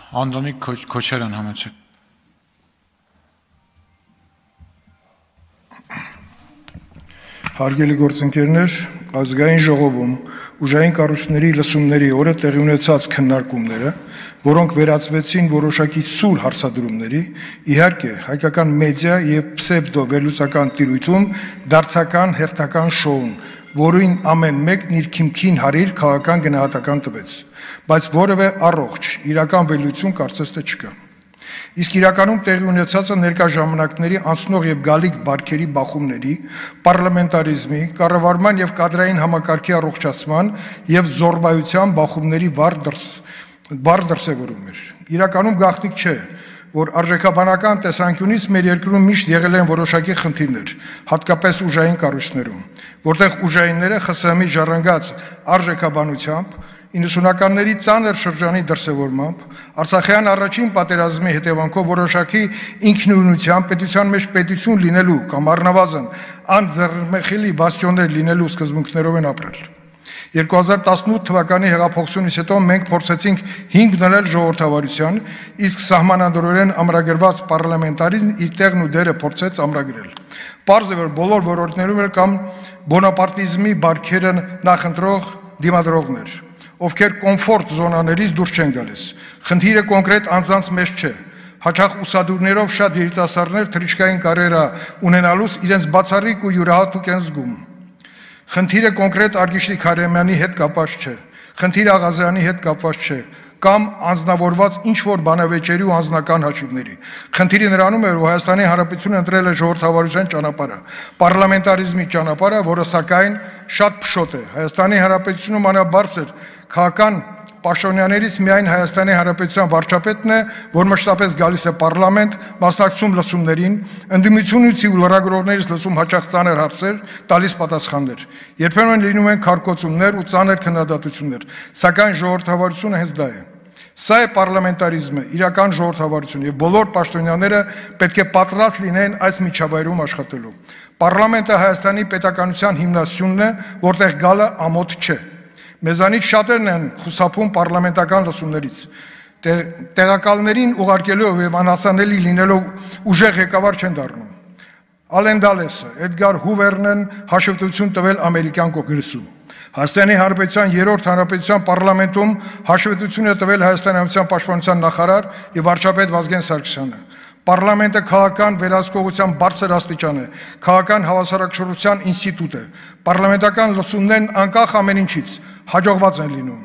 Անդրանիկ Քոչարյան համեցեք։ Հարգելի գործընկերներ, ազգային ժողովում ուժային կառույցների լսումների օրը տեղի ունեցած քննարկումները, որոնք վերածվեցին որոշակի սուր հարցադրումների, իհարկե հայկական մեդիա եւ պսևդո վերլուծական տիրույթում դարձական հերթական շոուն, որին ամեն մեկն իր քիմքին հարիր քաղաքական գնահատական տվեց, բայց որևէ առողջ իրական վերլուծություն կարծես թե չկա։ Իսկ իրականում տեղի ունեցածը ներկա ժամանակների անցնող եւ գալիք բարքերի բախումների, պարլամենտարիզմի, կառավարման եւ կադրային համակարգի առողջացման եւ զոռբայության բախումների վառ դրսևորում էր։ Իրականում գաղտնիք չէ, որ արժեքաբանական տեսանկյունից մեր երկրում միշտ եղել են որոշակի խնդիրներ, հատկապես ուժային կառույցներում, որտեղ ուժայինները ԽՍՀՄ-ի ժառանգած արժեքաբանությամբ 90-ականների ծանր շրջանի դրսևորմամբ, Արցախյան առաջին պատերազմի հետևանքով որոշակի ինքնուրույնությամբ պետության մեջ պետություն լինելու կամ առնվազն անձեռնմխելի բաստիոններ լինելու սկզբունքներով են ապրել։ 2018 թվականի հեղափոխությունից հետո մենք փորձեցինք հիմք դնել ժողովրդավարության, իսկ սահմանադրորեն ամրագրված պարլամենտարիզմն իր տեղն ու դերը փորձեց ամրագրել։ Պարզ է, որ բոլոր ոլորտներում էլ կամ բոնապարտիզմի բարքերը նախընտրող դիմադրողներ, ովքեր կոմֆորտ զոնաներից դուրս չեն գալիս։ Խնդիրը կոնկրետ անձանց մեջ չէ։ Հաճախ ուսադուրներով շատ երիտասարդներ թռիչքային կարիերա ունենալուց իրենց բացառիկ ու յուրահատուկ են զգում։ Խնդիրը կոնկրետ Արգիշլի Քարամյանի հետ կապված չէ, խնդիրը Աղազյանի հետ կապված չէ, կամ անձնավորված ինչ-որ բանավեճերի ու անձնական հաշիվների։ Խնդիրը նրանում է, որ Հայաստանի Հանրապետությունը ընտրել է ժողովրդավարության ճանապարհը, պարլամենտարիզմի ճանապարհը, որը սակայն շատ փշոտ է։ Հայաստանի Հանրապետությունում ամենաբարձր քաղաքական պաշտոնյաներից միայն Հայաստանի Հանրապետության վարչապետն է, որ մշտապես գալիս է պարլամենտ, մասնակցում լսումներին, ընդդիմությունից ու լրագրողներից լսում հաճախ ծանր հարցեր, տալիս պատասխաններ։ Երբեմն լինում են քարկոծումներ ու ծանր քննադատություններ, սակայն ժողովրդավարությունը հենց դա է։ Սա է պարլամենտարիզմը, իրական ժողովրդավարություն, եւ բոլոր պաշտոնյաները պետք է պատրաստ լինեն այս միջավայրում աշխատելու։ Պարլամենտը Հայաստանի պետականության հիմնասյունն է, որտեղ գալը ամոթ չէ։ Մեզանից շատերն են խուսափում պարլամենտական լսումներից, տեղակալներին ուղարկելով եւ անհասանելի լինելով ուժեղ ղեկավար չեն դառնում։ Ալեն Դալեսը, Էդգար Հուվերն են հաշվետվություն տվել ամերիկյան կոնգրեսում։ Հայաստանի Հանրապետության երրորդ հանրապետության պարլամենտում հաշվետվություն է տվել Հայաստանի Հանրապետության պաշտպանության նախարար եւ վարչապետ Վազգեն Սարգսյանը։ Պարլամենտը քաղաքական վերահսկողության բարձր աստիճան է, քաղաքական հավասարակշռության ինստիտուտ է։ Պարլամենտական լսումներն անկախ ամեն ինչից հաջողված են լինում։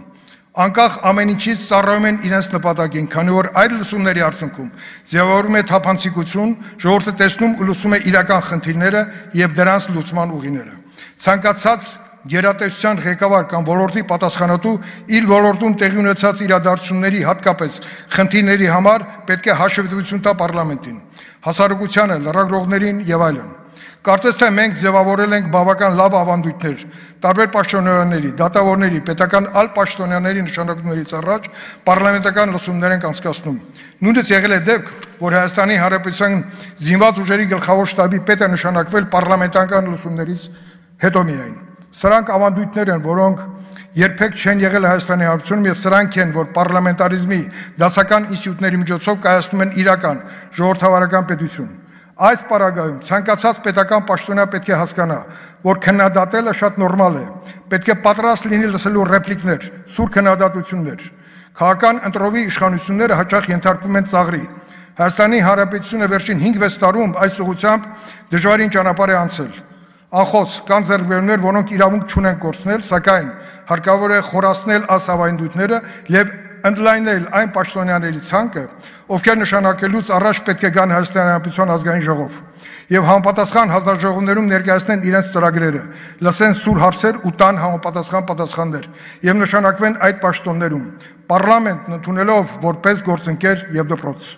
Անկախ ամեն ինչից ծառայում են իրենց նպատակին, քանի որ այդ լսումների արդյունքում ձևավորվում է թափանցիկություն, ժողովուրդը տեսնում ու լսում է իրական խնդիրները եւ դրանց լուծման ուղիները։ Ցանկացած գերատեսչության ղեկավար կամ ոլորտի պատասխանատու իր ոլորտում տեղի ունեցած իրադարձությունների, հատկապես խնդիրների համար պետք է հաշվետվություն տա պարլամենտին, հասարակությանը, լրագրողներին եւ այլն։ Կարծես թե մենք ձևավորել ենք բավական լավ ավանդույթներ տարբեր պաշտոնյաների, դատավորների, պետական այլ պաշտոնյաների նշանակություններից առաջ պարլամենտական լսումներ ենք անցկացնում։ Նույնպես եղել է դեպք, որ Հայաստանի Հանրապետության զինված ուժերի գլխավոր շտաբի պետը նշանակվել պարլամենտական լսումներից հետո միայն։ Սրանք ավանդույթներ են, որոնք երբեք չեն եղել Հայաստանի Հանրապետությունում եւ սրանք են, որ պարլամենտարիզմի դասական ինստիտուտների միջոցով կայացնում են իրական ժողովրդավարական պետություն։ Այս պարագայում ցանկացած պետական պաշտոնյա պետք է հասկանա, որ քննադատելը շատ նորմալ է, պետք է պատրաստ լինի լսելու ռեպլիկներ, սուր քննադատություններ։ Քաղաքական ընտրովի իշխանությունները հաճախ ենթարկվում են ծաղրի։ Հայաստանի Հանրապետությունը վերջին 5-6 տարում այս ուղղությամբ դժվարին ճանապարհ է անցել։ Անխոս կան ձեռքբերումներ, որոնք իրավունք չունեն կորցնել, սակայն հարկավոր է խորացնել այս ավանդույթները եւ ընդլայնել այն պաշտոնյաների ցանկը, ովքեր նշանակելուց առաջ պետք է գան Հայաստանի Հանրապետության ազգային ժողով եւ համապատասխան հանձնաժողովներում ներկայացնեն իրենց ծրագրերը, լսեն սուր հարցեր ու տան համապատասխան պատասխաններ եւ նշանակվեն այդ պաշտոններում, պարլամենտն ընդունելով որպես գործընկեր եւ դպրոց։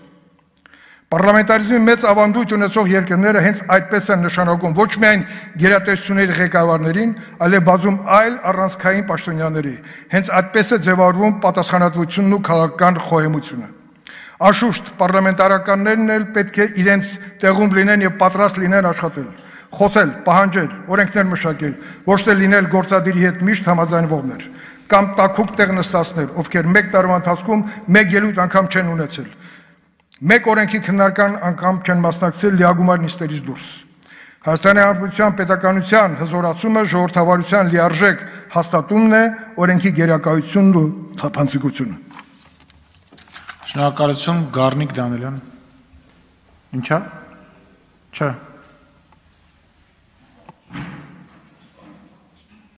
Պարլամենտարիզմի մեծ ավանդույթ ունեցող երկրները հենց այդպես են նշանակում ոչ միայն գերատեսչությունների ղեկավարներին, այլև բազում այլ առանցքային պաշտոնյաների։ Հենց այդպես է ձևավորվում պատասխանատվությունն ու քաղաքական խոհեմությունը։ Անշուշտ պարլամենտարականներն էլ պետք է իրենց տեղում լինեն եւ պատրաստ լինեն աշխատել, խոսել, պահանջել, օրենքներ մշակել, ոչ թե լինել գործադիրի հետ միշտ համաձայնվողներ։ կամ տաքուկ տեղ նստածներ, ովքեր մեկ տարվա ընթացքում մեկ ելույթ անգամ չեն ունեցել, մեկ օրենքի քննարկման անգամ չեն մասնակցել լիագումար նիստերից դուրս։ Հայաստանի Հանրապետության պետականության հզորացումը ժողովրդավարության լիարժեք հաստատումն է օրենքի գերակայությունն ու թափանցիկությունը։ Շնորհակալություն, Գառնիկ Դանիելյան։ Ինչա՞։ Չէ։